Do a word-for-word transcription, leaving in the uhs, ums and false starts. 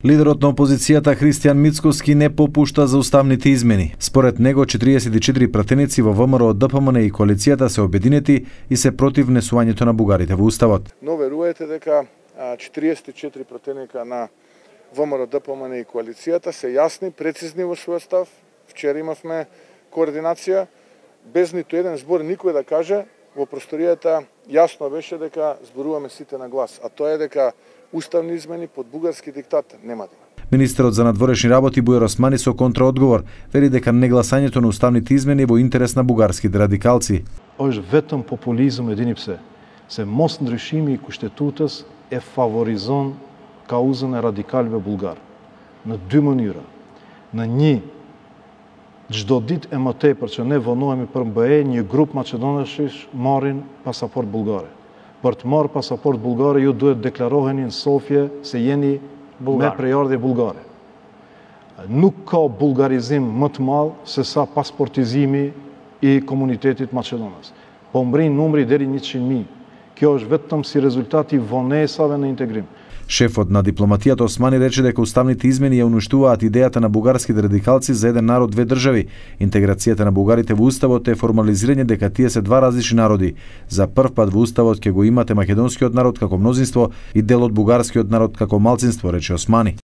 Лидерот на опозицијата Христијан Мицкоски не попушта за уставните измени. Според него четириесет и четири пратеници во ВМРО, ДПМН и коалицијата се обединети и се против внесувањето на бугарите во уставот. Но верувате дека четириесет и четири пратеника на ВМРО, ДПМН и коалицијата се јасни, прецизни во својот став. Вчера имавме координација, без ниту еден збор никој да каже, во просторијата јасно беше дека зборуваме сите на глас, а тоа е дека уставни измени под бугарски диктат нема да има. Министерот за надворешни работи Бујар Османи со контраодговор вели дека негласањето на уставните измени е во интерес на бугарските радикалци. Është vetëm populizëm e dini pse, se mos ndryshimi i kushtetues e favorizon kauzën e radikalëve bullgar në dy mënyra. Në një, çdo ditë e më tepër që ne vonohemi për M B E, një grup maqedonash marrin pasaport bullgare. Për të marrë pasaport bullgare, ju duhet deklaroheni në Sofje se jeni Bulgar. Me prejardhje bullgare. Nuk ka bullgarizim më të madh se sa pasportizimi i komunitetit maqedonas. Po mbrin numri deri njëqind mijë. Kjo është vetëm si rezultati vonesave në integrim. Шефот на дипломатијата Османи рече дека уставните измени ја уништуваат идејата на бугарските радикалци за еден народ, две држави. Интеграцијата на бугарите во уставот е формализирање дека тие се два различни народи. За прв пат во уставот ќе го имате македонскиот народ како мнозинство и дел од бугарскиот народ како малцинство, рече Османи.